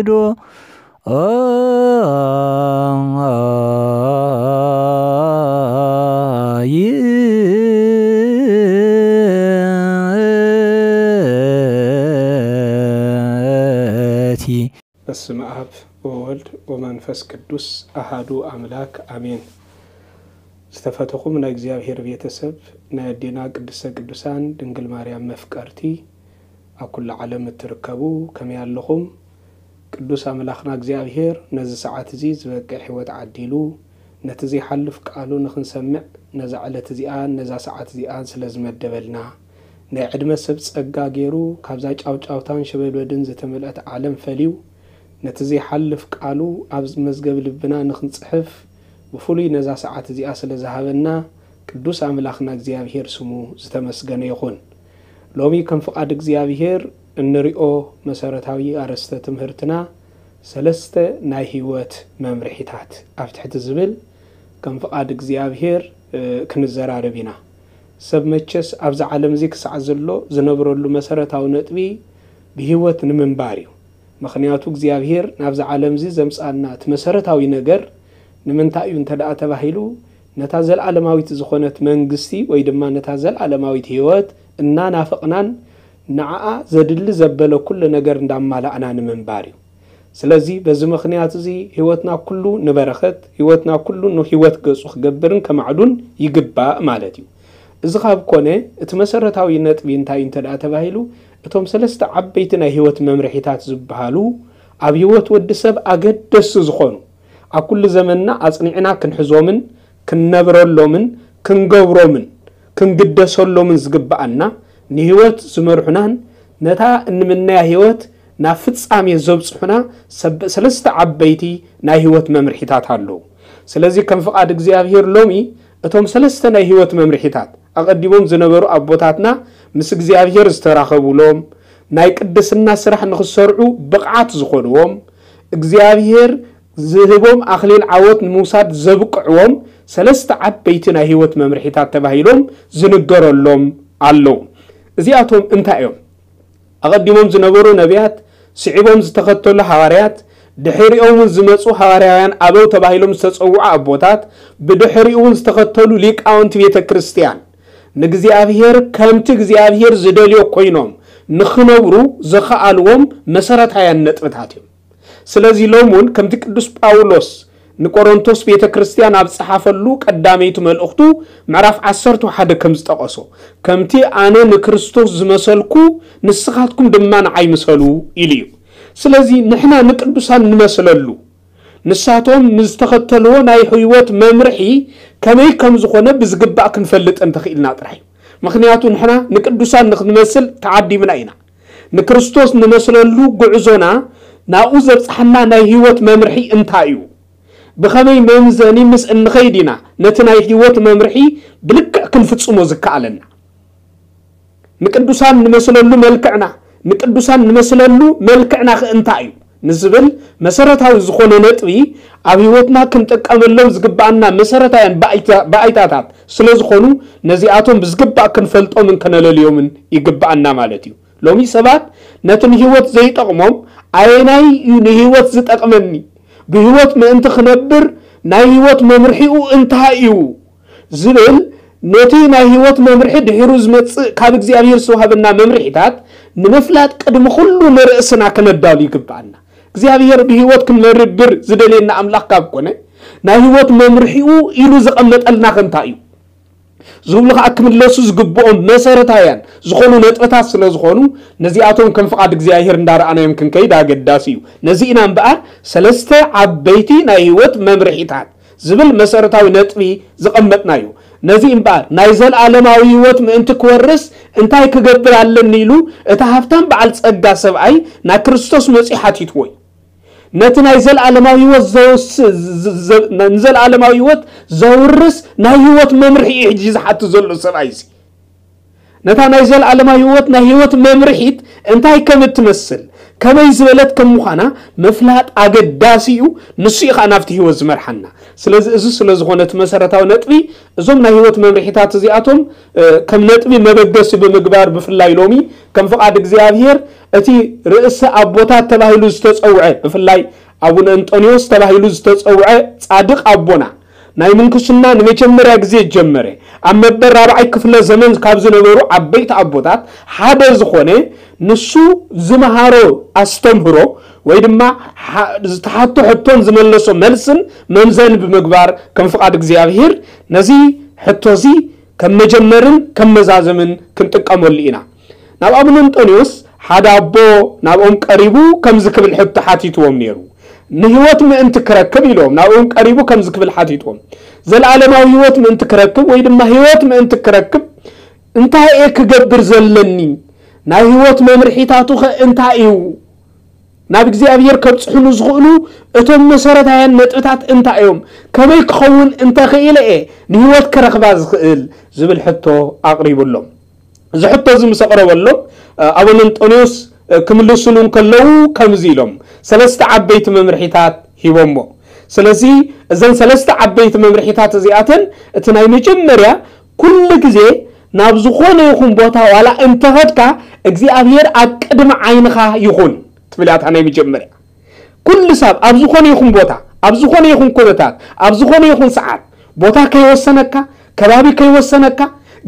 ዶ ይእቲ። በስመ አብ ወወልድ ወመንፈስ ቅዱስ አሃዱ አምላክ አሜን። ዝተፈተኹም ናይ እግዚኣብሔር ቤተሰብ፣ ናይ ኣዴና ቅድስተ ቅዱሳን ድንግል ማርያም መፍቀርቲ፣ ኣብ ኩሉ ዓለም እትርከቡ ከመይ ኣለኹም? ቅዱስ ኣምላኽና እግዚኣብሔር ነዚ ሰዓት እዚ ዝበቅዕ ህይወት ዓዲሉ፣ ነቲ ዘይሓልፍ ቃሉ ንኽንሰምዕ ነዛ ዕለት እዚኣን ነዛ ሰዓት እዚኣን ስለ ዝመደበልና፣ ናይ ዕድመ ሰብ ጸጋ ገይሩ ካብዛ ጫውጫውታን ሸበድበድን ዝተመልአት ዓለም ፈልዩ፣ ነቲ ዘይሓልፍ ቃሉ ኣብ መዝገብ ልብና ንኽንጽሕፍ ብፍሉይ ነዛ ሰዓት እዚኣ ስለ ዝሃበና ቅዱስ ኣምላኽና እግዚኣብሔር ስሙ ዝተመስገነ ይኹን። ሎሚ ከም ፍቓድ እግዚኣብሔር እንሪኦ መሰረታዊ ኣርእስተ ትምህርትና ሰለስተ ናይ ህይወት መምርሒታት ኣብ ትሕቲ ዝብል ከም ፍቓድ እግዚኣብሔር፣ እ፣ ክንዘራረብ ኢና። ሰብ መቸስ ኣብዚ ዓለም እዚ ክሳዕ ዘሎ ዝነብረሉ መሰረታዊ ነጥቢ ብህይወት ንምንባር እዩ። ምኽንያቱ እግዚኣብሔር ናብዚ ዓለም እዚ ዘምጽኣና እቲ መሰረታዊ ነገር ንምንታይ እዩ እንተ ደኣ ተባሂሉ፣ ነታ ዘለዓለማዊት ዝኾነት መንግስቲ ወይ ድማ ነታ ዘለዓለማዊት ህይወት እናናፈቕናን ንዓኣ ዘድሊ ዘበለ ኩሉ ነገር እንዳማላእና ንምንባር እዩ። ስለዚ በዚ ምኽንያት እዚ ህይወትና ኩሉ ንበረኸት፣ ህይወትና ኩሉ ንህይወት ገጹ ክገብርን ከማዕዱን ይግባእ ማለት እዩ። እዚ ካብ ኮነ እቲ መሰረታዊ ነጥቢ እንታይ እዩ እንተ ደኣ ተባሂሉ፣ እቶም ሰለስተ ዓበይቲ ናይ ህይወት መምርሒታት ዝበሃሉ ኣብ ህይወት ወዲ ሰብ ኣገደስቲ ዝኾኑ፣ ኣብ ኩሉ ዘመንና ኣጽኒዕና ክንሕዞምን ክንነብረሎምን ክንገብሮምን ክንግደሰሎምን ዝግብኣና፣ ንህይወት ዝመርሑናን ነታ እንምነያ ህይወት ናብ ፍጻሜ ዘብጽሑና ሰብ-፣ ሰለስተ ዓበይቲ ናይ ህይወት መምርሒታት ኣለዉ። ስለዚ ከም ፍቓድ እግዚኣብሔር ሎሚ እቶም ሰለስተ ናይ ህይወት መምርሒታት ኣቐዲሞም ዝነበሩ ኣቦታትና ምስ እግዚኣብሔር ዝተራኸቡሎም፣ ናይ ቅድስና ስራሕ ንኽሰርዑ ብቕዓት ዝኾንዎም፣ እግዚኣብሔር ዝህቦም ኣኽሊል ዓወት ንምውሳድ ዘብቅዕዎም ሰለስተ ዓበይቲ ናይ ህይወት መምርሒታት ተባሂሎም ዝንገረሎም ኣለዉ። እዚኣቶም እንታይ እዮም? ኣቐዲሞም ዝነበሩ ነቢያት፣ ስዒቦም ዝተኸተሉ ሃዋርያት፣ ድሕሪኦም እውን ዝመጹ ሃዋርያውያን ኣበው ተባሂሎም ዝተጸውዑ ኣቦታት፣ ብድሕሪኡ እውን ዝተኸተሉ ሊቃውንቲ ቤተ ክርስቲያን፣ ንእግዚኣብሔር ከምቲ እግዚኣብሔር ዝደልዮ ኮይኖም ንኽነብሩ ዘኸኣልዎም መሰረታውያን ነጥብታት እዮም። ስለዚ ሎም እውን ከምቲ ቅዱስ ጳውሎስ ንቆሮንቶስ ቤተ ክርስቲያን ኣብ ዝጸሓፈሉ ቀዳመይቲ መልእኽቱ ምዕራፍ ዓሰርተ ሓደ ከም ዝጠቐሶ፣ "ከምቲ ኣነ ንክርስቶስ ዝመሰልኩ ንስኻትኩም ድማ ንዓይ ምሰሉ" ኢሉ እዩ። ስለዚ ንሕና ንቅዱሳን ንመስለሉ፣ ንሳቶም ንዝተኸተልዎ ናይ ህይወት መምርሒ ከመይ ከም ዝኾነ ብዝግባእ ክንፈልጥ እንተኽኢልና ጥራይ እዩ። ምኽንያቱ ንሕና ንቅዱሳን ንኽንመስል ተዓዲምና ኢና። ንክርስቶስ ንመስለሉ ጉዕዞና ናብኡ ዘብጽሓና ናይ ህይወት መምርሒ እንታይ እዩ? ብኸመይ መምዘኒ ምስ እንኸይድ ኢና ነቲ ናይ ህይወት መምርሒ ብልክዕ ክንፍጽሞ ዝከኣለና? ንቅዱሳን ንመስለሉ መልክዕና፣ ንቅዱሳን ንመስለሉ መልክዕና ከ እንታይ እዩ ንዝብል መሰረታዊ ዝኾነ ነጥቢ፣ ኣብ ህይወትና ክንጥቀመሎም ዝግብኣና መሰረታውያን ባይታ-፣ ባይታታት ስለ ዝኾኑ፣ ነዚኣቶም ብዝግባእ ክንፈልጦምን ከነለልዮምን ይግብኣና ማለት እዩ። ሎሚ ሰባት ነቲ ንህይወት ዘይጠቕሞም፣ "ኣየናይ እዩ ንህይወት ዝጠቕመኒ? ብህይወት ምእንቲ ክነብር ናይ ህይወት መምርሒኡ እንታይ እዩ?" ዝብል፣ ነቲ ናይ ህይወት መምርሒ ድሒሩ ዝመጽእ ካብ እግዚኣብሔር ዝተዋህበና መምርሒታት ንምፍላጥ ቅድሚ ኩሉ ንርእስና ከነዳሉ ይግብኣና። እግዚኣብሔር ብህይወት ክንነብር ዝደልየና ኣምላኽ ካብ ኮነ፣ ናይ ህይወት መምርሒኡ ኢሉ ዘቐመጠልና ከ እንታይ እዩ? ዝብሉ ኸኣ ክምለሱ ዝግብኦም መሰረታውያን ዝኾኑ ነጥብታት ስለ ዝኾኑ፣ ነዚኣቶም ከም ፍቓድ እግዚኣብሔር እንዳረኣናዮም ክንከይድ ኣገዳሲ እዩ። ነዚ ኢና እምበኣር ሰለስተ ዓበይቲ ናይ ህይወት መምርሒታት ዝብል መሰረታዊ ነጥቢ ዘቐመጥናዮ። ነዚ እምበኣር ናይ ዘለኣለማዊ ህይወት ምእንቲ ክወርስ እንታይ ክገብር ኣለኒ ኢሉ እቲ ሃብታም በዓል ጸጋ ሰብኣይ ናብ ክርስቶስ መጺኡ ሓቲትዎ እዩ። ነቲ ናይ ዘለኣለማዊ ህይወት ዘውስ-፣ ዘ-፣ ዘ-፣ ንዘለኣለማዊ ህይወት ዘውርስ ናይ ህይወት መምርሒ እዩ ሕጂ ዝሓቱ ዘሎ ሰብኣይ እዚ። ነታ ናይ ዘለኣለማዊ ህይወት፣ ናይ ህይወት መምርሒት እንታይ ከም እትመስል፣ ከመይ ዝበለት ከም ምዃና ምፍላጥ ኣገዳሲ እዩ። ንሱ እዩ ኸኣ ናብቲ ህይወት ዝመርሓና። ስለዚ እዚ ስለ ዝኾነ እቲ መሰረታዊ ነጥቢ፣ እዞም ናይ ህይወት መምርሒታት እዚኣቶም፣ እ፣ ከም ነጥቢ መበገሲ ብምግባር፣ ብፍላይ ሎሚ ከም ፍቓድ እግዚኣብሔር እቲ ርእሰ ኣቦታት ተባሂሉ ዝተጸውዐ፣ ብፍላይ ኣቡነ እንጦንዮስ ተባሂሉ ዝተጸውዐ ጻድቕ ኣቦና፣ ናይ ምንኩስና ንመጀመርያ ግዜ ጀመረ። ኣብ መበል ራብዓይ ክፍለ ዘመን ካብ ዝነበሩ ዓበይቲ ኣቦታት ሓደ ዝኾነ፣ ንሱ ዝመሃሮ ኣስተምህሮ ወይ ድማ ሓ-፣ ዝተሓቶ ሕቶን ዝመለሶ መልስን መምዘኒ ብምግባር፣ ከም ፍቓድ እግዚኣብሔር ነዚ ሕቶ እዚ ከም መጀመርን ከም መዛዘምን ክንጥቀመሉ ኢና። ናብ ኣቡነ እንጦንዮስ ሓደ ኣቦ ናብኦም ቀሪቡ ከምዚ ክብል ሕቶ ሓቲትዎም ነይሩ። "ንህይወት ምእንቲ ክረክብ" ኢሎም ናብኦም ቀሪቡ ከምዚ ክብል ሓቲትዎም፣ "ዘለኣለማዊ ህይወት ምእንቲ ክረክብ ወይ ድማ ህይወት ምእንቲ ክረክብ እንታይ እየ ክገብር ዘለኒ? ናይ ህይወት መምርሒታቱ ኸ እንታይ እዩ? ናብ እግዚኣብሔር ከብጽሑኑ ዝኽእሉ እቶም መሰረታውያን ነጥብታት እንታይ እዮም? ከመይ ክኸውን እንተኽኢለ እየ ንህይወት ክረኽባ ዝኽእል?" ዝብል ሕቶ ኣቕሪቡሎም። እዚ ሕቶ እዚ ምስ ኣቕረበሎም፣ ኣቡነ እንጦንዮስ ክምልስሉ እንከለዉ ከምዚ ኢሎም ሰለስተ ዓበይቲ መምርሒታት ሂቦሞ። ስለዚ እዘን ሰለስተ ዓበይቲ መምርሒታት እዚኣተን፣ እቲ ናይ መጀመርያ፣ ኩሉ ግዜ ናብ ዝኾነ ይኹን ቦታ ዋላ እንተኸድካ እግዚኣብሔር ኣብ ቅድሚ ዓይንኻ ይኹን ትብል እያ እታ ናይ መጀመርያ። ኩሉ ሰብ ኣብ ዝኾነ ይኹን ቦታ፣ ኣብ ዝኾነ ይኹን ኩነታት፣ ኣብ ዝኾነ ይኹን ሰዓት፣ ቦታ ከይወሰነካ፣ ከባቢ ከይወሰነካ፣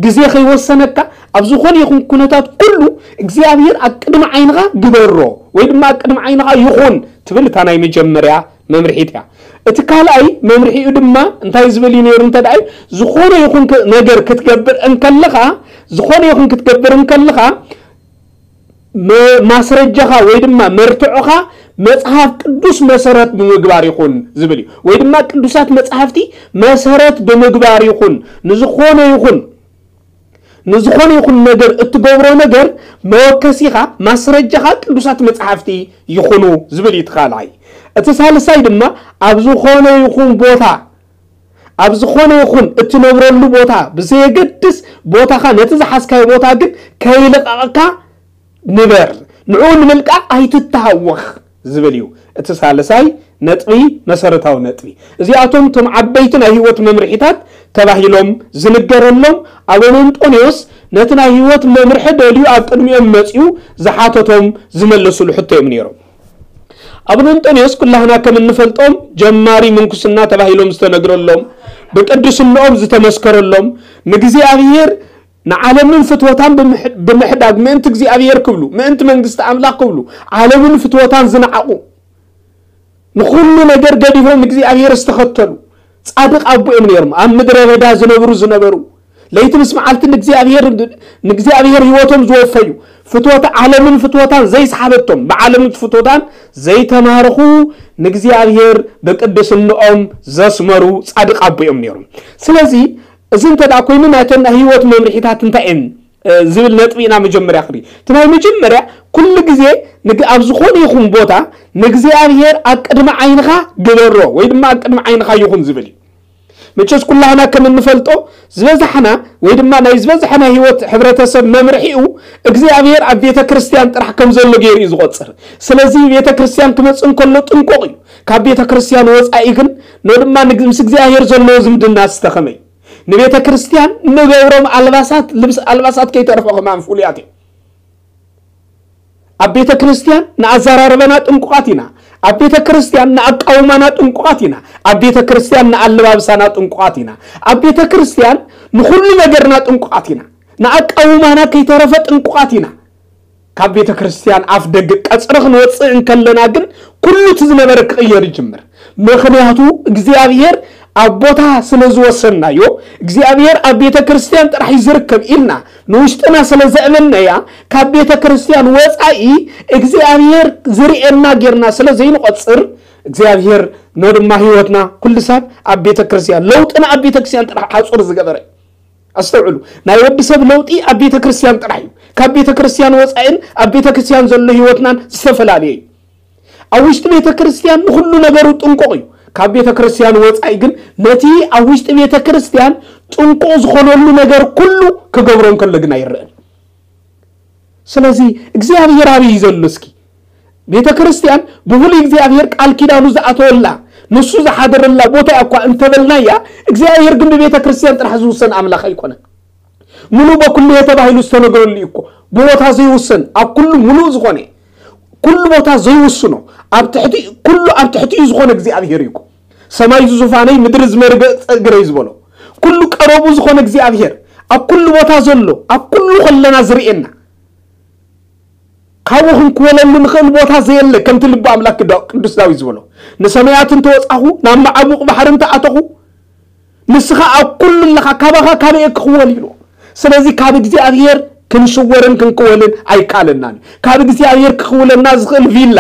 ግዜ ከይወሰነካ፣ ኣብ ዝኾነ ይኹን ኩነታት ኩሉ እግዚኣብሔር ኣብ ቅድሚ ዓይንኻ ግበሮ ወይ ድማ ኣብ ቅድሚ ዓይንኻ ይኹን ትብል እታ ናይ መጀመርያ መምርሒት እያ። እቲ ካልኣይ መምርሒኡ ድማ እንታይ ዝብል እዩ ነይሩ እንተ ደኣ እዩ፣ ዝኾነ ይኹን ክ-፣ ነገር ክትገብር እንከለኻ፣ ዝኾነ ይኹን ክትገብር እንከለኻ፣ መ-፣ ማስረጃኻ ወይ ድማ መርትዖኻ መጽሓፍ ቅዱስ መሰረት ብምግባር ይኹን ዝብል እዩ። ወይ ድማ ቅዱሳት መጻሕፍቲ መሰረት ብምግባር ይኹን፣ ንዝኾነ ይኹን፣ ንዝኾነ ይኹን ነገር እትገብሮ ነገር መወከሲኻ፣ ማስረጃኻ ቅዱሳት መጻሕፍቲ ይኹኑ ዝብል እዩ እቲ ካልኣይ። እቲ ሳልሳይ ድማ ኣብ ዝኾነ ይኹን ቦታ፣ ኣብ ዝኾነ ይኹን እትነብረሉ ቦታ ብዘየገድስ ቦታኻ፣ ነቲ ዝሓዝካዮ ቦታ ግን ከይልቐቕካ ንበር፣ ንዕኡ ንምልቃቕ ኣይትተሃወኽ ዝብል እዩ እቲ ሳልሳይ ነጥቢ፣ መሰረታዊ ነጥቢ። እዚኣቶም እቶም ዓበይቲ ናይ ህይወት መምርሒታት ተባሂሎም ዝንገረሎም፣ ኣቡነ እንጦንዮስ ነቲ ናይ ህይወት መምርሒ ደልዩ ኣብ ቅድሚኦም መጺኡ ዝሓተቶም ዝመለሱሉ ሕቶ እዮም ነይሮም። ኣቡነ እንጦንዮስ ኩላህና ከም እንፈልጦም ጀማሪ ምንኩስና ተባሂሎም ዝተነግረሎም፣ ብቅድስንኦም ዝተመስከረሎም፣ ንእግዚኣብሔር ንዓለምን ፍትወታን ብምሕ-፣ ብምሕዳግ ምእንቲ እግዚኣብሔር ክብሉ፣ ምእንቲ መንግስቲ ኣምላኽ ክብሉ፣ ዓለምን ፍትወታን ዝነዓቑ፣ ንኹሉ ነገር ገዲፎም ንእግዚኣብሔር ዝተኸተሉ ጻድቕ ኣቦ እዮም ነይሮም። ኣብ ምድረ በዳ ዝነብሩ ዝነበሩ፣ ለይቲ ምስ መዓልቲ ንእግዚኣብሔር፣ ንእግዚኣብሔር ህይወቶም ዝወፈዩ፣ ፍትወት ዓለምን ፍትወታን ዘይሰሓበቶም፣ ብዓለምን ፍትወታን ዘይተማርኹ፣ ንእግዚኣብሔር ብቅድስንኦም ዘስመሩ ጻድቕ ኣቦ እዮም ነይሮም። ስለዚ እዚ እንተ ደኣ ኮይኑ፣ ናይተን ናይ ህይወት መምርሒታት እንታይ እየን፣ እ፣ ዝብል ነጥቢ ኢና መጀመርያ ክርኢ። እቲ ናይ መጀመርያ፣ ኩሉ ግዜ ንግ-፣ ኣብ ዝኾነ ይኹን ቦታ ንእግዚኣብሔር ኣብ ቅድሚ ዓይንኻ ግበሮ ወይ ድማ ኣብ ቅድሚ ዓይንኻ ይኹን ዝብል እዩ። መቸስ ኩላህና ከም እንፈልጦ፣ ዝበዛሕና ወይ ድማ ናይ ዝበዝሐ ናይ ህይወት ሕብረተሰብ መምርሒኡ እግዚኣብሔር ኣብ ቤተ ክርስቲያን ጥራሕ ከም ዘሎ ገይሩ እዩ ዝቖጽር። ስለዚ ቤተ ክርስቲያን ክመጽእ እንከሎ ጥንቁቕ እዩ። ካብ ቤተ ክርስቲያን ወጻኢ ግን፣ ኖ ድማ ንግ-፣ ምስ እግዚኣብሔር ዘለዎ ዝምድና ዝተኸመ እዩ። ንቤተ ክርስቲያን ንገብሮም ኣልባሳት፣ ልብስ ኣልባሳት ከይተርፎ ከማን ፍሉያት እዮም። ኣብ ቤተ ክርስቲያን ንኣዘራርባና ጥንቁቓት ኢና። ኣብ ቤተ ክርስቲያን ንኣቃውማና ጥንቁቓት ኢና። ኣብ ቤተ ክርስቲያን ንኣለባብሳና ጥንቁቓት ኢና። ኣብ ቤተ ክርስቲያን ንኹሉ ነገርና ጥንቁቓት ኢና። ንኣቃውማና ከይተረፈ ጥንቁቓት ኢና። ካብ ቤተ ክርስቲያን ኣፍ ደገ ቀጽሪ ክንወጽእ እንከለና ግን ኩሉ እቲ ዝነበረ ክቕየር ይጅምር። ምኽንያቱ እግዚኣብሔር ኣብ ቦታ ስለ ዝወሰንናዮ፣ እግዚኣብሔር ኣብ ቤተ ክርስቲያን ጥራሕ እዩ ዝርከብ ኢልና ንውሽጥና ስለ ዘእመንናያ፣ ካብ ቤተ ክርስቲያን ወጻኢ እግዚኣብሔር ዝርእየና ጌርና ስለ ዘይንቖጽር፣ እግዚኣብሔር ኖ ድማ ህይወትና ኩሉ ሳብ ኣብ ቤተ ክርስቲያን፣ ለውጥና ኣብ ቤተ ክርስቲያን ጥራሕ ሓጹር ዝገበረ። ኣስተውዕሉ፣ ናይ ወዲ ሰብ ለውጢ ኣብ ቤተ ክርስቲያን ጥራሕ እዩ። ካብ ቤተ ክርስቲያን ወጻኢን ኣብ ቤተ ክርስቲያን ዘሎ ህይወትናን ዝተፈላለየ እዩ። ኣብ ውሽጢ ቤተ ክርስቲያን ንኹሉ ነገሩ ጥንቁቕ እዩ። ካብ ቤተ ክርስቲያን ወጻኢ ግን ነቲ ኣብ ውሽጢ ቤተ ክርስቲያን ጥንቁቕ ዝኾነሉ ነገር ኩሉ ክገብሮ እንከሎ ግን ኣይረአን። ስለዚ እግዚኣብሔር ኣበይ እዩ ዘሎ? እስኪ ቤተ ክርስቲያን ብፍሉይ እግዚኣብሔር ቃል ኪዳኑ ዝኣተወላ፣ ንሱ ዝሓደረላ ቦታ እኳ እንተበልናያ፣ እግዚኣብሔር ግን ብቤተ ክርስቲያን ጥራሕ ዝውሰን ኣምላኽ ኣይኮነን። ምሉእ በኩሉ ተባሂሉ ዝተነገረሉ እዩ እኮ። ብቦታ ዘይውሰን፣ ኣብ ኩሉ ምሉእ ዝኾነ፣ ኩሉ ቦታ ዘይውስኖ፣ ኣብ ትሕቲ፣ ኩሉ ኣብ ትሕቲኡ ዝኾነ እግዚኣብሔር እዩ እኮ። ሰማይ ዝዙፋነይ፣ ምድሪ ዝመርገጽ እግረይ ዝበሎ፣ ኩሉ ቀረቡ ዝኾነ እግዚኣብሔር፣ ኣብ ኩሉ ቦታ ዘሎ፣ ኣብ ኩሉ ከለና ዝርእየና፣ ካብኡ ክንክወለሉ ንኽእል ቦታ ዘየለ፣ ከምቲ ልቢ ኣምላክ ዳ-፣ ቅዱስ ዳዊት ዝበሎ፣ "ንሰማያት እንተወጻኹ፣ ናብ መዓሙቕ ባሕሪ እንተኣተኹ፣ ንስኻ ኣብ ኩሉ ኣለኻ፣ ካባኻ ካበየ ክኽወል?" ኢሉ። ስለዚ ካብ እግዚኣብሔር ክንሽወርን ክንክወልን ኣይከኣለናን እዩ። ካብ እግዚኣብሔር ክኽውለና ዝኽእል ቪላ፣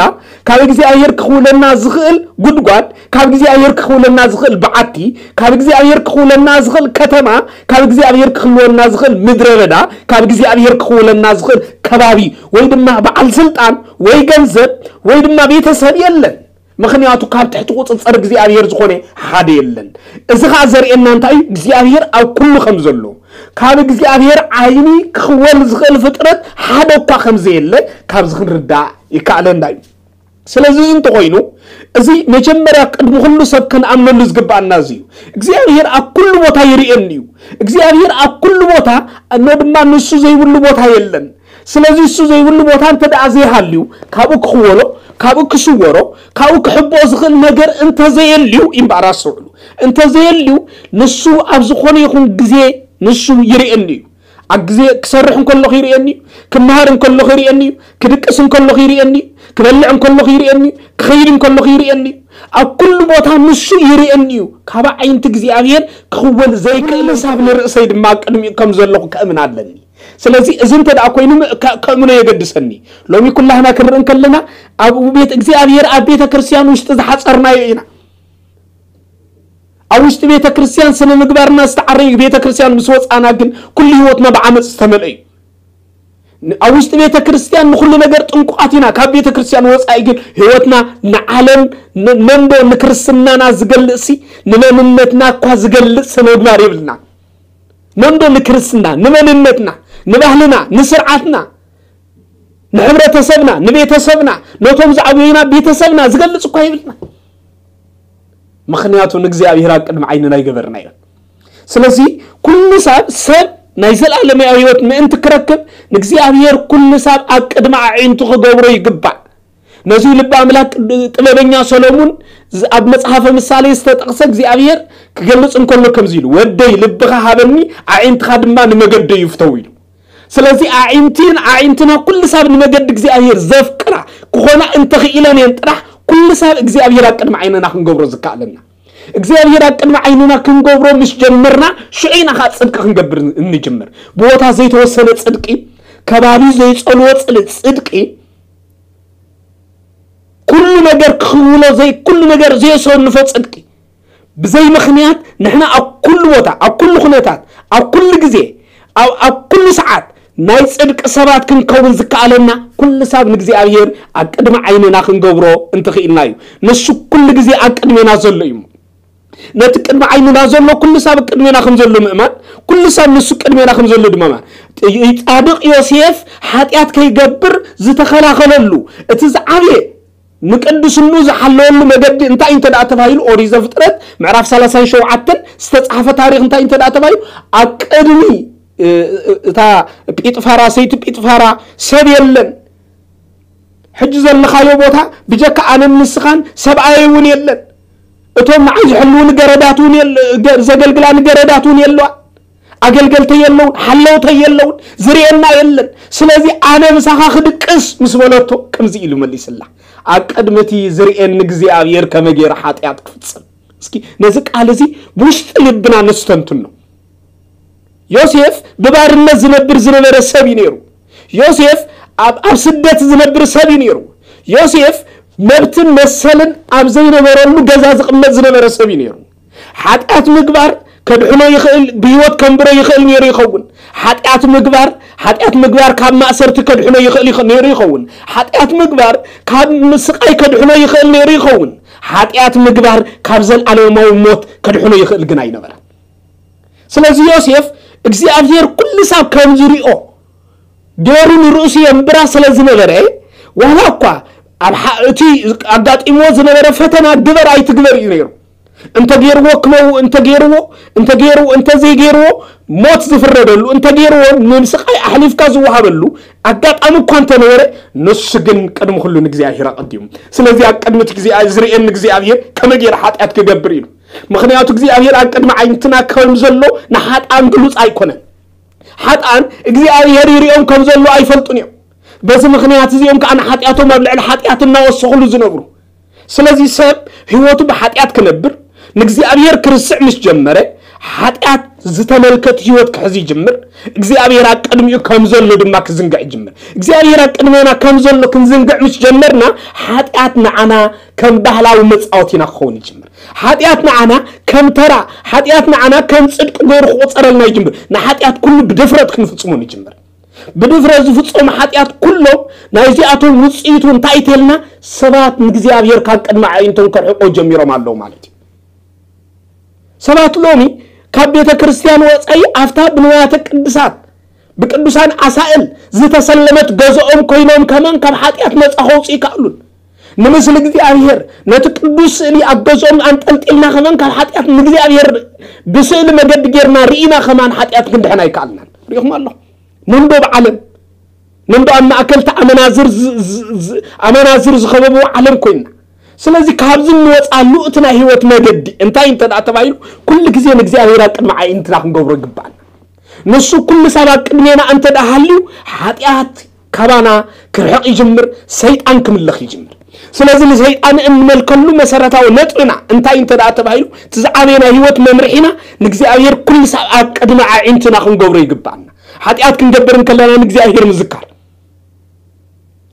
ካብ እግዚኣብሔር ክኽውለና ዝኽእል ጉድጓድ፣ ካብ እግዚኣብሔር ክኽውለና ዝኽእል በዓቲ፣ ካብ እግዚኣብሔር ክኽውለና ዝኽእል ከተማ፣ ካብ እግዚኣብሔር ክኽልወና ዝኽእል ምድረ በዳ፣ ካብ እግዚኣብሔር ክኽውለና ዝኽእል ከባቢ፣ ወይ ድማ በዓል ስልጣን፣ ወይ ገንዘብ፣ ወይ ድማ ቤተሰብ የለን። ምኽንያቱ ካብ ትሕቲ ቁጽጽር እግዚኣብሔር ዝኾነ ሓደ የለን። እዚ ኸኣ ዘርእየና እንታይ እዩ? እግዚኣብሔር ኣብ ኩሉ ከም ዘሎ፣ ካብ እግዚኣብሔር ዓይኒ ክኽወል ዝኽእል ፍጥረት ሓደ እኳ ከም ዘየለ ካብዚ ክንርዳእ ይከኣለና እዩ። ስለዚ እዚ እንተኾይኑ፣ እዚ መጀመርያ ቅድሚ ኩሉ ሰብ ክንኣምነሉ ዝግብኣና እዚ እዩ። እግዚኣብሔር ኣብ ኩሉ ቦታ ይርእየኒ እዩ። እግዚኣብሔር ኣብ ኩሉ ቦታ፣ እኖ ድማ ንሱ ዘይብሉ ቦታ የለን። ስለዚ እሱ ዘይብሉ ቦታ እንተ ደኣ ዘይሃልዩ፣ ካብኡ ክኽወሎ፣ ካብኡ ክሽወሮ፣ ካብኡ ክሕብኦ ዝኽእል ነገር እንተዘየልዩ፣ እምበኣር ኣስተውዕሉ፣ እንተዘየልዩ፣ ንሱ ኣብ ዝኾነ ይኹን ግዜ ንሱ ይርእየኒ እዩ። ኣብ ግዜ ክሰርሕ እንከለኹ ይርእየኒ እዩ፣ ክመሃር እንከለኹ ይርእየኒ እዩ፣ ክድቅስ እንከለኹ ይርእየኒ እዩ፣ ክበልዕ እንከለኹ ይርእየኒ እዩ፣ ክኸይድ እንከለኹ ይርእየኒ እዩ። ኣብ ኩሉ ቦታ ንሱ ይርእየኒ እዩ። ካብ ኣዒንቲ እግዚኣብሔር ክኽወል ዘይክእል፣ ንሳብ ንርእሰይ ድማ ኣብ ቅድሚኡ ከም ዘለኹ ከእምን ኣለኒ። ስለዚ እዚ እንተ ደኣ ኮይኑ፣ ም-፣ ከ-፣ ከእምኖ የገድሰኒ። ሎሚ ኩላህና ክንርኢ እንከለና፣ ኣብ ቤት እግዚኣብሔር፣ ኣብ ቤተ ክርስቲያን ውሽጢ ዝሓጸርናዮ ኢና። ኣብ ውሽጢ ቤተ ክርስቲያን ስነ ምግባርና ዝተዓረዩ፣ ቤተ ክርስቲያን ምስ ወጻና ግን ኩሉ ህይወትና ብዓመጽ ዝተመልአ እዩ። ን-፣ ኣብ ውሽጢ ቤተ ክርስቲያን ንኹሉ ነገር ጥንቁቓት ኢና። ካብ ቤተ ክርስቲያን ወጻኢ ግን ህይወትና ንዓለም፣ ን-፣ መንዶ ንክርስትናና ዝገልጽ ሲ፣ ንመንነትና እኳ ዝገልጽ ስነ ምግባር የብልና። መንዶ ንክርስትና፣ ንመንነትና፣ ንባህልና፣ ንስርዓትና፣ ንሕብረተሰብና፣ ንቤተሰብና፣ ነቶም ዝዓበዩና ቤተሰብና ዝገልጽ እኳ የብልና። ምኽንያቱ ንእግዚኣብሔር ኣብ ቅድሚ ዓይንና ኣይገበርናዮን። ስለዚ ኩሉ ሰብ፣ ሰብ ናይ ዘላለማዊ ህይወት ምእንቲ ክረክብ ንእግዚኣብሔር ኩሉ ሰብ ኣብ ቅድሚ ኣዒንቱ ክገብሮ ይግባእ። ነዚ ልቢ ኣምላክ ጥበበኛ ሰሎሙን ዝ-፣ ኣብ መጽሓፈ ምሳሌ ዝተጠቕሰ እግዚኣብሔር ክገልጽ እንከሎ ከምዚ ኢሉ፣ "ወደይ ልብኻ ሃበኒ፣ ኣዒንትኻ ድማ ንመገደይ ይፍተው" ኢሉ። ስለዚ ኣዒንቲን ኣዒንትና ኩሉ ሳብ ንመገዲ እግዚኣብሔር ዘፍቅራ ክኾና እንተኽኢለን እየን ጥራሕ ኩሉ ሳብ እግዚኣብሔር ኣብ ቅድሚ ዓይንና ክንገብሮ ዝከኣለና። እግዚኣብሔር ኣብ ቅድሚ ዓይንና ክንገብሮ ምስ ጀመርና ሽዑ ኢና ከዓ ጽድቂ ክንገብር እንጅምር። ብቦታ ዘይተወሰነ ጽድቂ፣ ከባቢ ዘይጸልዎ ጽል-፣ ጽድቂ፣ ኩሉ ነገር ክውሎ ዘይ-፣ ኩሉ ነገር ዘየሰንፎ ጽድቂ። ብዘይ ምኽንያት ንሕና ኣብ ኩሉ ቦታ፣ ኣብ ኩሉ ኩነታት፣ ኣብ ኩሉ ግዜ፣ ኣብ፣ ኣብ ኩሉ ሰዓት ናይ ጽድቂ ሰባት ክንከውን ዝከኣለና ኩሉ ሳብ ንእግዚኣብሔር ኣብ ቅድሚ ዓይንና ክንገብሮ እንተኽኢልና እዩ። ንሱ ኩሉ ግዜ ኣብ ቅድሜና ዘሎ እዩ። ነቲ ቅድሚ ዓይንና ዘሎ ኩሉ ሳብ ቅድሜና ከም ዘሎ ምእማን፣ ኩሉ ሳብ ንሱ ቅድሜና ከም ዘሎ ድማ ምእማን። ጻድቕ ዮሴፍ ሓጢኣት ከይገብር ዝተኸላኸለሉ እቲ ዝዓብየ ንቅድስኑ ዝሓለወሉ መገዲ እንታይ እንተ ደኣ ተባሂሉ፣ ኦሪት ዘፍጥረት ምዕራፍ ሰላሳን ሸውዓተን ዝተጻሕፈ ታሪኽ እንታይ እንተ ደኣ ተባሂሉ፣ ኣብ ቅድሚ፣ እ፣ እ፣ እታ ጲጥፋራ፣ ሰይቲ ጲጥፋራ ሰብ የለን። ሕጂ ዘለኻዮ ቦታ ብጀካ ኣነን ንስኻን ሰብኣየይ እውን የለን። እቶም ንዓይ ዝሕልዉኒ ገረዳት እውን የለ-፣ ገ-፣ ዘገልግላኒ ገረዳት እውን የለዋን። ኣገልገልተይ የለውን፣ ሓለውተይ የለውን፣ ዝርእየና የለን። ስለዚ ኣነ ምሳኻ ክድቅስ ምስ በለቶ ከምዚ ኢሉ መሊስላ፣ "ኣብ ቅድሚ እቲ ዝርእየኒ እግዚኣብሔር ከመይ ገይረ ሓጢኣት ክፍጽም?" እስኪ ነዚ ቃል እዚ ብውሽጢ ልብና ነስተንትኖ። ዮሴፍ ብባርነት ዝነብር ዝነበረ ሰብ እዩ ነይሩ። ዮሴፍ ኣብ፣ ኣብ ስደት ዝነብር ሰብ እዩ ነይሩ። ዮሴፍ መብትን መሰልን ኣብ ዘይነበረሉ ገዛ ዝቕመጥ ዝነበረ ሰብ እዩ ነይሩ። ሓጢኣት ምግባር ከድሕኖ ይኽእል፣ ብህይወት ከንብሮ ይኽእል ነይሩ ይኸውን። ሓጢኣት ምግባር፣ ሓጢኣት ምግባር ካብ ማእሰርቲ ከድሕኖ ይኽእል ይኸ-፣ ነይሩ ይኸውን። ሓጢኣት ምግባር ካብ ምስቓይ ከድሕኖ ይኽእል ነይሩ ይኸውን። ሓጢኣት ምግባር ካብ ዘለኣለማዊ ሞት ከድሕኖ ይኽእል ግን ኣይነበረን። ስለዚ ዮሴፍ እግዚኣብሔር ኩሉ ሳብ ከም ዝሪኦ፣ ገይሩ ንርእሱ የንብራ ስለ ዝነበረ፣ ዋላ እኳ ኣብ ሓ- እቲ ኣጋጢምዎ ዝነበረ ፈተና ግበር ኣይትግበር እዩ ነይሩ። እንተገይርዎ ክመው እንተገይርዎ እንተገይርዎ እንተዘይገይርዎ ሞት ዝፍረደሉ፣ እንተገይርዎ ንስቃይ ኣሕሊፍካ ዝወሃበሉ ኣጋጣሚ እኳ እንተነበረ፣ ንሱ ግን ቅድሚ ኩሉ ንእግዚኣብሔር ኣቐዲሙ። ስለዚ ኣብ ቅድሚ እቲ እግዚኣብሔር ዝርእየኒ እግዚኣብሔር ከመይ ገይረ ሓጢኣት ክገብር ኢሉ። ምክንያቱ እግዚኣብሔር ኣብ ቅድሚ ዓይንትና ከም ዘሎ ንሓጥኣን ግሉጽ ኣይኮነን። ሓጥኣን እግዚኣብሔር ይርእዮም ከም ዘሎ ኣይፈልጡን እዮም። በዚ ምክንያት እዚኦም ከዓ ንሓጢኣቶም ኣብ ልዕሊ ሓጢኣት እናወሰኹሉ ዝነብሩ። ስለዚ ሰብ ህይወቱ ብሓጢኣት ክነብር ንእግዚኣብሔር ክርስዕ ምስ ጀመረ፣ ሓጢኣት ዝተመልከት ህይወት ክሕዝ ይጅምር። እግዚኣብሔር ኣብ ቅድሚኡ ከም ዘሎ ድማ ክዝንግዕ ይጅምር። እግዚኣብሔር ኣብ ቅድሜና ከም ዘሎ ክንዝንግዕ ምስ ጀመርና፣ ሓጢኣት ንዓና ከም ባህላዊ መጻወቲና ክኸውን ይጅምር። ሓጢኣት ንዓና ከም ተራ፣ ሓጢኣት ንዓና ከም ጽድቂ ገይሩ ክቆጸረልና ይጅምር። ንሓጢኣት ኩሉ ብድፍረት ክንፍጽሞ ንጅምር። ብድፍረት ዝፍጸሙ ሓጢኣት ኩሎም ናይዚኣቶም ውጽኢቱ እንታይ ተልና፣ ሰባት ንእግዚኣብሔር ካብ ቅድሚ ኣዒንቶም ከርሕቆ ጀሚሮም ኣለዉ ማለት እዩ። ሰባት ሎሚ ካብ ቤተ ክርስቲያን ወጻኢ ኣብታ ብንዋያተ ቅድሳት ብቅዱሳን ኣሳእል ዝተሰለመት ገዝኦም ኮይኖም ከማን ካብ ሓጢኣት ነጻ ከውጽኡ ይከኣሉን። ንምስሊ እግዚኣብሔር ነቲ ቅዱስ ስእሊ ኣብ ገዝኦም ኣንጠልጢልና ከማን ካብ ሓጢኣት ንእግዚኣብሔር ብስእሊ መገዲ ጌርና ርኢና ከማን ሓጢኣት ክንድሕን ኣይከኣልናን። ርኢኹም ኣለኹም። ነንዶ ኣብ ዓለም ነንዶ ኣብ ማእከል እቲ ኣመናዝር ዝ- ዝ- ዝ- ኣመናዝር ዝኸበብዎ ዓለም ኮይንና። ስለዚ ካብዚ እንወፅኣሉ እቲ ናይ ህይወት መገዲ እንታይ እንተ ደኣ ተባሂሉ፣ ኩሉ ግዜ ንእግዚኣብሔር ኣብ ቅድሚ ኣዒንትና ክንገብሮ ይግባኣና። ንሱ ኩሉ ሰብ ኣብ ቅድሜና እንተ ደኣ ሃልዩ፣ ሓጢኣት ካባና ክርሕቕ ይጅምር፣ ሰይጣን ክምለኽ ይጅምር። ስለዚ ንሰይጣን እንመልከሉ መሰረታዊ ነጥብና እንታይ እንተ ደኣ ተባሂሉ፣ እቲ ዝዓበየ ናይ ህይወት መምርሒና ንእግዚኣብሔር ኩሉ ሰብ ኣብ ቅድሚ ኣዒንትና ክንገብሮ ይግባኣና። ሓጢኣት ክንገብር እንከለና ንእግዚኣብሔር ምዝካር፣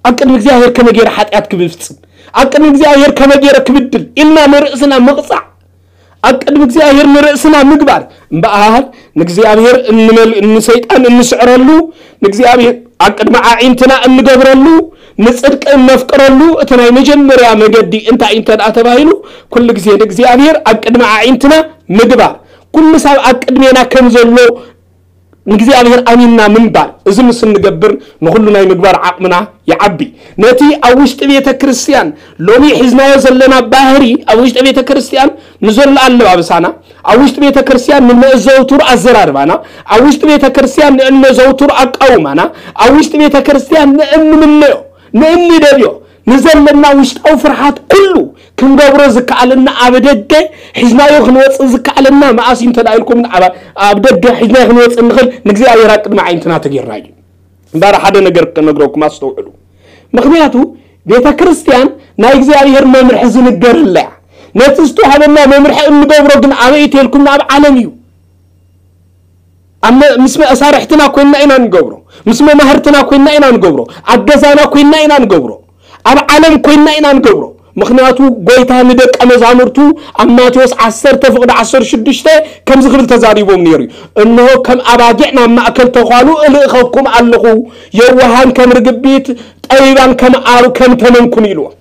ኣብ ቅድሚ እግዚኣብሔር ከመይ ገይረ ሓጢኣት ክፍጽም፣ ኣብ ቅድሚ እግዚኣብሔር ከመይ ገይረ ክብድል ኢልና ንርእስና ምቕጻዕ፣ ኣብ ቅድሚ እግዚኣብሔር ንርእስና ምግባር እምበኣር፣ ንእግዚኣብሔር እንመል- ንሰይጣን እንስዕረሉ፣ ንእግዚኣብሔር ኣብ ቅድሚ ኣዒንትና እንገብረሉ፣ ንጽድቂ እነፍቅረሉ፣ እቲ ናይ መጀመርያ መገዲ እንታይ እንተ ደኣ ተባሂሉ፣ ኩሉ ግዜ ንእግዚኣብሔር ኣብ ቅድሚ ኣዒንትና ምግባር፣ ኩሉ ሰብ ኣብ ቅድሜና ከም ዘሎ ንእግዚኣብሔር ኣሚንና ምንባር። እዚ ምስ እንገብር ንኹሉ ናይ ምግባር ዓቕምና ይዓቢ። ነቲ ኣብ ውሽጢ ቤተ ክርስቲያን ሎሚ ሒዝናዮ ዘለና ባህሪ ኣብ ውሽጢ ቤተ ክርስቲያን ንዘሎ ኣለባብሳና፣ ኣብ ውሽጢ ቤተ ክርስቲያን ንእነዘውትሩ ኣዘራርባና፣ ኣብ ውሽጢ ቤተ ክርስቲያን ንእነዘውትሩ ኣቃውማና፣ ኣብ ውሽጢ ቤተ ክርስቲያን ንእንምነዮ ንእንደልዮ ንዘለና ውሽጣዊ ፍርሓት ኩሉ ክንገብሮ ዝከኣለና ኣብ ደገ ሒዝናዮ ክንወፅእ ዝከኣለና መኣስ እዩ እንተ ኢልኩም ኣብ ደገ ሒዝናዮ ክንወፅእ እንኽእል ንእግዚኣብሔር ኣብ ቅድሚ ዓይንትና ተጌርና እዩ። እምበኣር ሓደ ነገር ክነግረኩም ኣስተውዕሉ። ምክንያቱ ቤተ ክርስቲያን ናይ እግዚኣብሔር መምርሒ ዝንገረላ እያ። ነቲ ዝተዋህበና መምርሒ እንገብሮ ግን ኣበይ ተልኩም ናብ ዓለም እዩ። ኣብ መ- ምስ መሳርሕትና ኮይንና ኢና ንገብሮ፣ ምስ መማህርትና ኮይንና ኢና ንገብሮ፣ ኣብ ገዛና ኮይንና ኢና ንገብሮ፣ ኣብ ዓለም ኮይንና ኢና ንገብሮ። ምክንያቱ ጎይታ ንደቀ መዛሙርቱ ኣብ ማቴዎስ ዓሰርተ ፍቕዲ ዓሰርተ ሽዱሽተ ከምዚ ክብል ተዛሪቦም ነይሩ እዩ። እንሆ ከም ኣባጊዕ ናብ ማእከል ተዃሉ እልእኸኩም ኣለኹ፣ የዋሃን ከም ርግቢት፣ ጠቢባን ከም ኣብ ከም ተመንኩን ኢልዎም።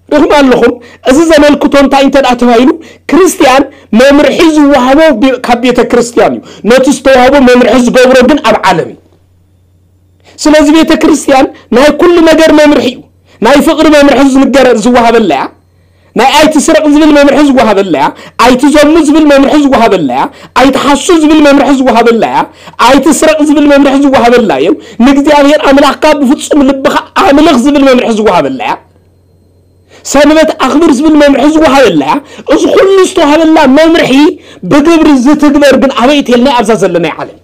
ርኹም ኣለኹም። እዚ ዘመልክቶ እንታይ እንተ ደኣ ተባሂሉ ክርስትያን መምርሒ ዝወሃቦ ብ- ካብ ቤተ ክርስትያን እዩ። ነቲ ዝተዋህቦ መምርሒ ዝገብሮ ግን ኣብ ዓለም እዩ። ስለዚ ቤተ ክርስትያን ናይ ኩሉ ነገር መምርሒ እዩ። ናይ ፍቕሪ መምርሒ ዝንገረ ዝወሃበላ እያ። ናይ ኣይትስረቕ ዝብል መምርሒ ዝወሃበላ እያ። ኣይትዘሙ ዝብል መምርሒ ዝወሃበላ እያ። ኣይትሓሱ ዝብል መምርሒ ዝወሃበላ እያ። ኣይትስረቕ ዝብል መምርሒ ዝወሃበላ እዩ። ንእግዚኣብሔር ኣምላኽካ ብፍጹም ልብኻ ኣምልኽ ዝብል መምርሒ ዝወሃበላ እያ። ሰንበት ኣኽብር ዝብል መምርሒ ዝወሃበላ እያ። እዚ ኩሉ ዝተዋሃበላ መምርሒ ብግብሪ ዝትግበር ግን ኣበይ እተልና ኣብዛ ዘለናይ ዓለም።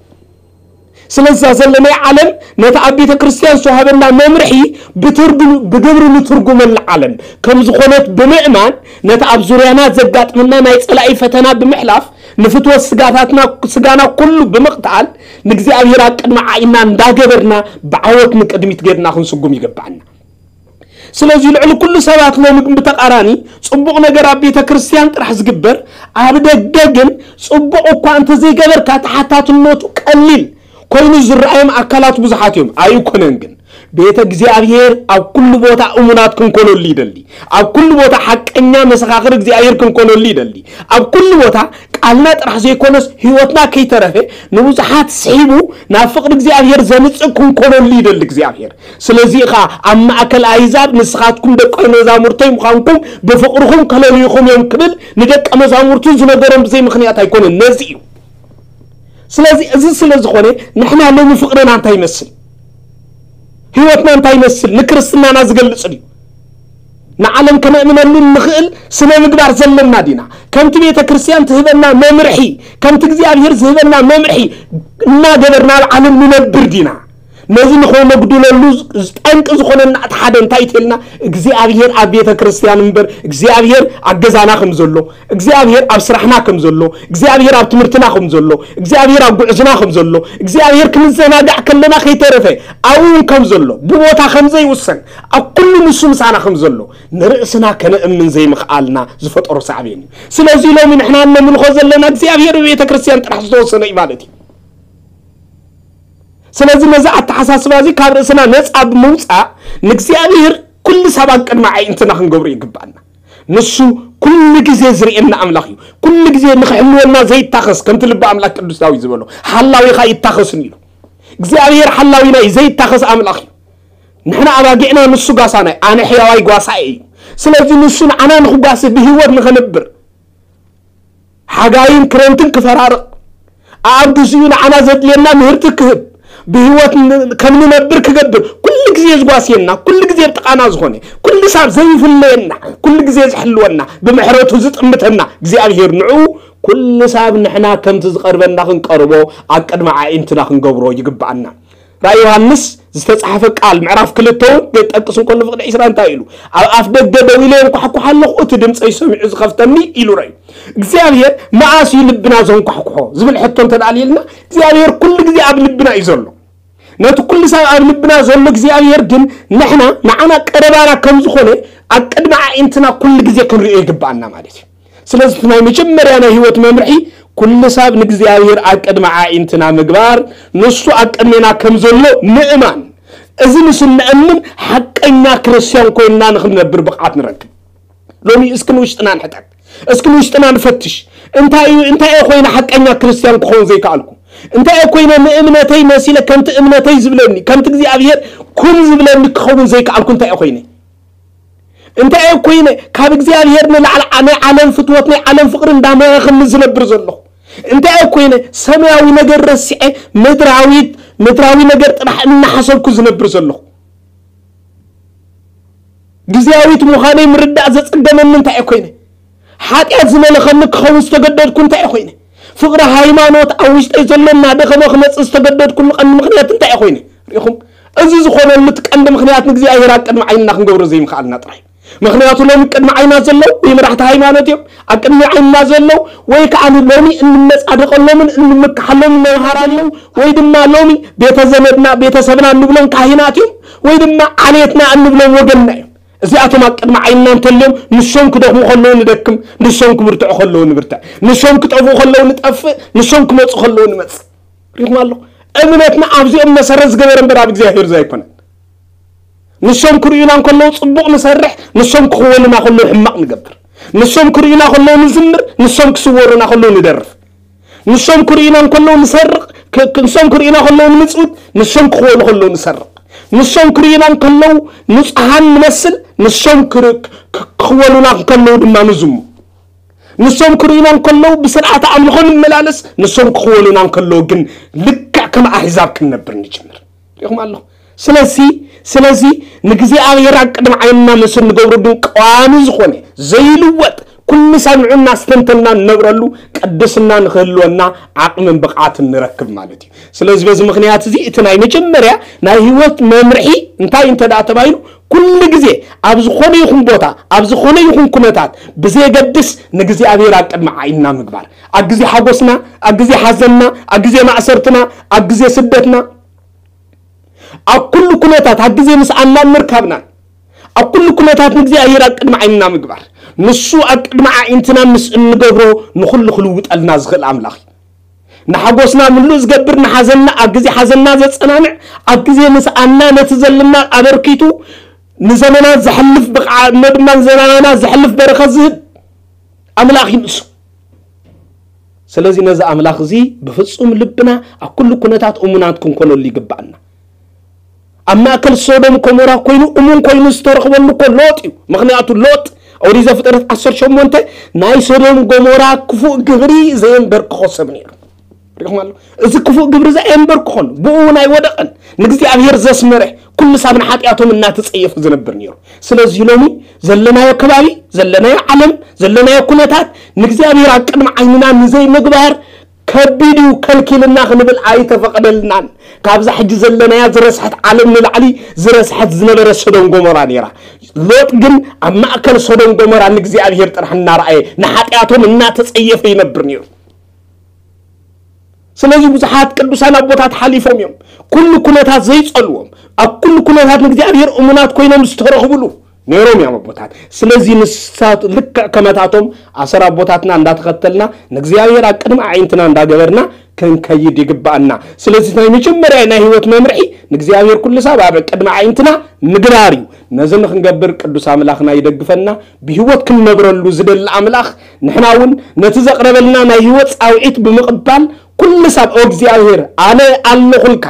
ስለዛ ዘለናይ ዓለም ነቲ ኣብ ቤተ ክርስትያን ዝተዋሃበላ መምርሒ ብትርጉም ብግብሪ ንትርጉመላ ዓለም ከም ዝኾነት ብምእማን ነቲ ኣብ ዙርያና ዘጋጥመና ናይ ጸላኢ ፈተና ብምሕላፍ ንፍትወት ስጋታትና ስጋና ኩሉ ብምቕታል ንእግዚኣብሔር ኣብ ቅድሚ ዓይና እንዳገበርና ብዓወት ንቅድሚት ገርና ክንስጉም ይግባኣና። ስለዚ ልዕሊ ኩሉ ሰባት ሎሚ ግን ብተቓራኒ ጽቡቕ ነገር ኣብ ቤተ ክርስትያን ጥራሕ ዝግበር፣ ኣብ ደገ ግን ጽቡቕ እኳ እንተዘይገበርካ ተሓታትነቱ ቀሊል ኮይኑ ዝረኣዮም ኣካላት ብዙሓት እዮም። ኣይኮነን ግን ቤተ እግዚኣብሔር ኣብ ኩሉ ቦታ እሙናት ክንኮነሉ ይደሊ። ኣብ ኩሉ ቦታ ሓቀኛ መሰኻኽር እግዚኣብሔር ክንኮነሉ ይደሊ። ኣብ ኩሉ ቦታ ቃልና ጥራሕ ዘይኮነስ ህይወትና ከይተረፈ ንብዙሓት ስሒቡ ናብ ፍቕሪ እግዚኣብሔር ዘምጽእ ክንኮነሉ ይደሊ እግዚኣብሔር። ስለዚ ኸኣ ኣብ ማእከል ኣህዛብ ንስኻትኩም ደቀ መዛሙርተይ ምዃንኩም ብፍቕርኹም ከለልዩኹም እዮም ክብል ንደቀ መዛሙርቱ ዝነገሮም ብዘይ ምኽንያት ኣይኮነን። ነዚ እዩ። ስለዚ እዚ ስለ ዝኾነ ንሕና ሎሚ ፍቕርና እንታይ ይመስል? ህይወትና እንታይ ይመስል? ንክርስትናና ዝገልጽ ድዩ? ንዓለም ከነእምነሉ እንኽእል ስነ ምግባር ዘለና ዲና? ከምቲ ቤተ ክርስቲያን ትህበና መምርሒ፣ ከምቲ እግዚኣብሔር ዝህበና መምርሒ እናገበርና ኣብ ዓለም ንነብር ዲና? ነዚ ንኸነጉድለሉ ጠንቂ ዝኾነና እቲ ሓደ እንታይ ተልና? እግዚኣብሔር ኣብ ቤተ ክርስቲያን እምበር እግዚኣብሔር ኣብ ገዛና ከም ዘሎ፣ እግዚኣብሔር ኣብ ስራሕና ከም ዘሎ፣ እግዚኣብሔር ኣብ ትምህርትና ከም ዘሎ፣ እግዚኣብሔር ኣብ ጉዕዝና ከም ዘሎ፣ እግዚኣብሔር ክንዘናጋዕ ከለና ከይተረፈ ኣብኡ እውን ከም ዘሎ፣ ብቦታ ከም ዘይውሰን፣ ኣብ ኩሉ ንሱ ምሳና ከም ዘሎ ንርእስና ከነእምን ዘይምኽኣልና ዝፈጠሮ ሳዕቤን እዩ። ስለዚ ሎሚ ንሕና እነምልኾ ዘለና እግዚኣብሔር ብቤተ ክርስቲያን ጥራሕ ዝተወሰነ እዩ ማለት እዩ። ስለዚ ነዚ ኣተሓሳስባ እዚ ካብ ርእስና ነፃ ብምውፃእ ንእግዚኣብሔር ኩሉ ሳብ ኣብ ቅድሚ ኣዒንትና ክንገብሮ ይግባኣና። ንሱ ኩሉ ግዜ ዝርእየና ኣምላኽ እዩ። ኩሉ ግዜ ንኽሕልወና ዘይታኸስ፣ ከምቲ ልቢ ኣምላኽ ቅዱስ ዳዊት ዝበሎ፣ ሓላዊኻ ይታኸስን ኢሉ። እግዚኣብሔር ሓላዊና እዩ፣ ዘይታኸስ ኣምላኽ እዩ። ንሕና ኣባጊዕና፣ ንሱ ጓሳና እዩ። ኣነ ሕያዋይ ጓሳኤ እዩ። ስለዚ ንሱ ንዓና ንኽጓሲ ብህይወት ንኸንብር ሓጋይን ክረምትን ክፈራርቕ፣ ኣብ ግዚኡ ንዓና ዘድልየና ምህርቲ ክህብ፣ ብህይወት ን-፣ ከም ንነብር ክገብር፣ ኩሉ ግዜ ዝጓስየና፣ ኩሉ ግዜ ኣብ ጥቓና ዝኾነ፣ ኩሉ ሳብ ዘይፍለየና፣ ኩሉ ግዜ ዝሕልወና፣ ብምሕረቱ ዝጥምተና እግዚኣብሔር ንዕኡ ኩሉ ሳብ ንሕና ከምቲ ዝቐርበና ክንቀርቦ ኣብ ቅድሚ ኣዒንትና ክንገብሮ ይግብኣና። ራእይ ዮሃንስ ዝተጻሕፈ ቃል ምዕራፍ ክልተ እውን ገጠቅስ እንከሎ ፍቕዲ ዕስራ እንታይ ኢሉ? ኣብ ኣፍ ደገ ደው ኢለ የንኳሕኩሕ ኣለኹ፣ እቲ ድምፀይ ሰሚዑ ዝኸፍተኒ ኢሉ ረዩ። እግዚኣብሔር መኣስ እዩ ልብና ዘንኳሕኩሖ ዝብል ሕቶ እንተ ደኣ ኣልየልና እግዚኣብሔር ኩሉ ግዜ ኣብ ልብና እዩ ዘሎ። ነቲ ኩሉ ሰብ ኣብ ልብና ዘሎ እግዚኣብሔር ግን ንሕና ንዓና ቀረባና ከም ዝኾነ ኣብ ቅድሚ ኣዒንትና ኩሉ ግዜ ክንርእዮ ይግብኣና ማለት እዩ። ስለዚ እቲ ናይ መጀመርያ ናይ ህይወት መምርሒ ኩሉ ሰብ ንእግዚኣብሔር ኣብ ቅድሚ ኣዒንትና ምግባር፣ ንሱ ኣብ ቅድሜና ከም ዘሎ ምእማን። እዚ ምስ እንእምን ሓቀኛ ክርስትያን ኮይንና ንክንነብር ብቕዓት ንረክብ። ሎሚ እስኪ ንውሽጥና ንሕተት፣ እስኪ ንውሽጥና ንፈትሽ። እንታይ እዩ፣ እንታይ እየ ኮይነ ሓቀኛ ክርስትያን ክኸውን ዘይከኣልኩ? እንታይ እየ ኮይነ ንእምነተይ መሲለ ከምቲ እምነተይ ዝብለኒ፣ ከምቲ እግዚኣብሔር ኩን ዝብለኒ ክኸውን ዘይከኣልኩ እንታይ እየ ኮይነ? እንታይ እየ ኮይነ ካብ እግዚኣብሔር ንላዕሊ ዓ-፣ ናይ ዓለም ፍትወት ናይ ዓለም ፍቕሪ እንዳመረኸኒ ዝነብር ዘለኹ? እንታይ እየ ኮይነ ሰማያዊ ነገር ረሲዐ ምድራዊት ምድራዊ ነገር ጥራሕ እናሓሰብኩ ዝነብር ዘለኹ? ግዜያዊት ምዃነይ ምርዳእ ዘጸገመኒ እንታይ እየ ኮይነ? ሓጢኣት ዝመለኸኒ ክኸውን ዝተገደድኩ እንታይ እየ ኮይነ? ፍቕሪ ሃይማኖት ኣብ ውሽጠይ ዘሎ እናደኸመ ክመጽእ ዝተገደድኩሉ ቀንዲ ምኽንያት እንታይ እየ ኮይነ? ርኢኹም? እዚ ዝኾነሉ እቲ ቀንዲ ምኽንያት ንእግዚኣብሔር ኣብ ቅድሚ ዓይንና ክንገብሮ ዘይምኽኣልና ጥራይ። ምኽንያቱ ሎሚ ቅድሚ ዓይና ዘለዉ ወይ መራሕቲ ሃይማኖት እዮም ኣብ ቅድሚ ዓይንና ዘለዉ፣ ወይ ከዓ ሎሚ እንመጻደቐሎምን እንምክሓሎምን መምሃራን እዮም፣ ወይ ድማ ሎሚ ቤተ ዘመድና ቤተሰብና እንብሎም ካህናት እዮም፣ ወይ ድማ ዓሌትና እንብሎም ወገንና እዮም። እዚኣቶም ኣብ ቅድሚ ዓይንና እንተልዮም ንሶም ክደኽሙ ከለዉ ንደክም፣ ንሶም ክብርትዑ ከለዉ ንብርትዕ፣ ንሶም ክጠፍኡ ከለዉ ንጠፍእ፣ ንሶም ክመጹ ከለዉ ንመጽእ። ሪኹም ኣለኹ። እምነትና ኣብዚኦም መሰረት ዝገበረ እምበር ኣብ እግዚኣብሔር ዘይኮነን። ንሶም ክርእዩና እንከለዉ ጽቡቕ ንሰርሕ፣ ንሶም ክኽወሉና ከለዉ ሕማቕ ንገብር። ንሶም ክርእዩና ከለዉ ንዝምር፣ ንሶም ክስወሩና ከለዉ ንደርፍ። ንሶም ክርእዩና እንከለዉ ንሰርቕ፣ ክ-፣ ክ-፣ ንሶም ክርእዩና ከለዉ ንምጽውት፣ ንሶም ክኽወሉ ከለዉ ንሰርቕ። ንሶም ክርእዩና እንከለዉ ንጹሃን ንመስል፣ ንሶም ክር-፣ ክ-፣ ክኽወሉና እንከለዉ ድማ ንዝሙ። ንሶም ክርእዩና እንከለዉ ብስርዓተ ኣምልኾ ንመላለስ፣ ንሶም ክኽወሉና እንከለዉ ግን ልክዕ ከም ኣህዛብ ክንነብር ንጅምር። ሪኹም ኣለኹ። ስለዚ፣ ስለዚ ንእግዚኣብሔር ኣብ ቅድሚ ዓይንና ምስ እንገብሮ ግን ቀዋሚ ዝኾነ ዘይልወጥ ኩሉ ሳብ ንዑ እናስተንተልና እንነብረሉ ቅድስና ንክህልወና ዓቕምን ብቕዓትን ንረክብ ማለት እዩ። ስለዚ በዚ ምኽንያት እዚ እቲ ናይ መጀመርያ ናይ ህይወት መምርሒ እንታይ እንተ ደኣ ተባሂሉ፣ ኩሉ ግዜ ኣብ ዝኾነ ይኹን ቦታ ኣብ ዝኾነ ይኹን ኩነታት ብዘየገድስ ንእግዚኣብሔር ኣብ ቅድሚ ዓይንና ምግባር። ኣብ ግዜ ሓጎስና፣ ኣብ ግዜ ሓዘንና፣ ኣብ ግዜ ማእሰርትና፣ ኣብ ግዜ ስደትና፣ ኣብ ኩሉ ኩነታት ኣብ ግዜ ምስኣናን ምርካብናን ኣብ ኩሉ ኩነታት ንእግዚኣብሔር ኣብ ቅድሚ ዓይንና ምግባር። ንሱ ኣብ ቅድሚ ኣዒንትና ምስ እንገብሮ ንኹሉ ክልውጠልና ዝኽእል ኣምላኽ እዩ። ንሓጎስና ምሉእ ዝገብር፣ ንሓዘንና ኣብ ግዜ ሓዘንና ዘጸናንዕ፣ ኣብ ግዜ ምስኣና ነቲ ዘለና ኣበርኪቱ ንዘመናት ዘሕልፍ ብቕዓ እሞ ድማ ንዘመናና ዘሕልፍ በረኸት ዝህብ ኣምላኽ እዩ ንሱ። ስለዚ ነዚ ኣምላኽ እዚ ብፍጹም ልብና ኣብ ኩሉ ኩነታት እሙናት ክንኮነሉ ይግባኣና። ኣብ ማእከል ሶዶም ኮሞራ ኮይኑ እሙን ኮይኑ ዝተረኽበሉ እኮ ሎጥ እዩ። ምኽንያቱ ሎጥ ኦሪት ዘፍጥረት ዓሰርተ ሸሞንተ ናይ ሶዶም ጎሞራ ክፉእ ግብሪ ዘየንበርክኾ ሰብ ነይሩ። ሪኹም ኣሎ። እዚ ክፉእ ግብሪ እዚ ኣየንበርክኾን፣ ብኡ እውን ኣይወደቐን። ንእግዚኣብሔር ዘስመረ ኩሉ ሳብ ንሓጢኣቶም እናተጸየፈ ዝነብር ነይሩ። ስለዚ ሎሚ ዘለናዮ ከባቢ፣ ዘለናዮ ዓለም፣ ዘለናዮ ኩነታት ንእግዚኣብሔር ኣብ ቅድሚ ዓይንና ንዘይምግባር ከቢድ እዩ፣ ከልኪልና ክንብል ኣይተፈቐደልናን። ካብዛ ሕጂ ዘለናያ ዝረስሐት ዓለም ንላዕሊ ዝረስሐት ዝነበረ ሶዶም ጎሞራ ነይራ። ሎጥ ግን ኣብ ማእከል ሶዶም ጎሞራ ንእግዚኣብሔር ጥራሕ እናረኣየ ንሓጢኣቶም እናተጸየፈ ይነብር ነይሩ። ስለዚ ብዙሓት ቅዱሳን ኣቦታት ሓሊፎም እዮም። ኩሉ ኩነታት ዘይጸልዎም፣ ኣብ ኩሉ ኩነታት ንእግዚኣብሔር እሙናት ኮይኖም ዝተረኽብሉ ነይሮም እዮም ኣቦታት። ስለዚ ንሳት ልክዕ ከመታቶም ኣሰር ኣቦታትና እንዳተኸተልና ንእግዚኣብሔር ኣብ ቅድሚ ኣዒንትና እንዳገበርና ክንከይድ ይግባኣና። ስለዚ ናይ መጀመርያ ናይ ህይወት መምርሒ ንእግዚኣብሔር ኩሉ ሳብ ኣብ ቅድሚ ኣዒንትና ምግባር እዩ። ነዚ ንክንገብር ቅዱስ ኣምላኽና ይደግፈና። ብህይወት ክንነብረሉ ዝደሊ ኣምላኽ ንሕና እውን ነቲ ዘቕረበልና ናይ ህይወት ጻውዒት ብምቕባል ኩሉ ሳብ ኦ እግዚኣብሔር ኣነ ኣለኹልካ፣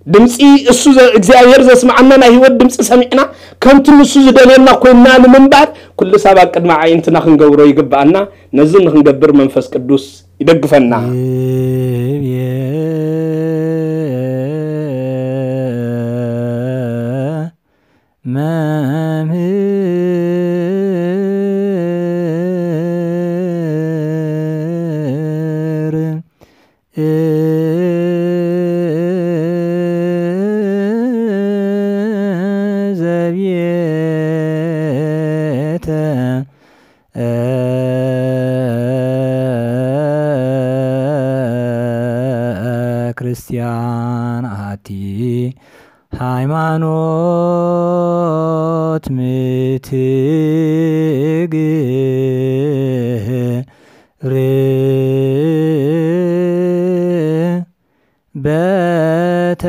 ድምፂ እሱ ዘ- እግዚኣብሔር ዘስማዓና ናይ ህይወት ድምፂ ሰሚዕና ከምቲ ንሱ ዝደልየና ኮይንና ንምንባር ኩሉ ሳብ ኣብ ቅድሚ ኣዒንትና ክንገብሮ ይግባኣና። ነዚ ንክንገብር መንፈስ ቅዱስ ይደግፈና። ይብየ መምህር ዘብየተ ክርስቲያን ኣቲ ሃይማኖት ምትግር በተ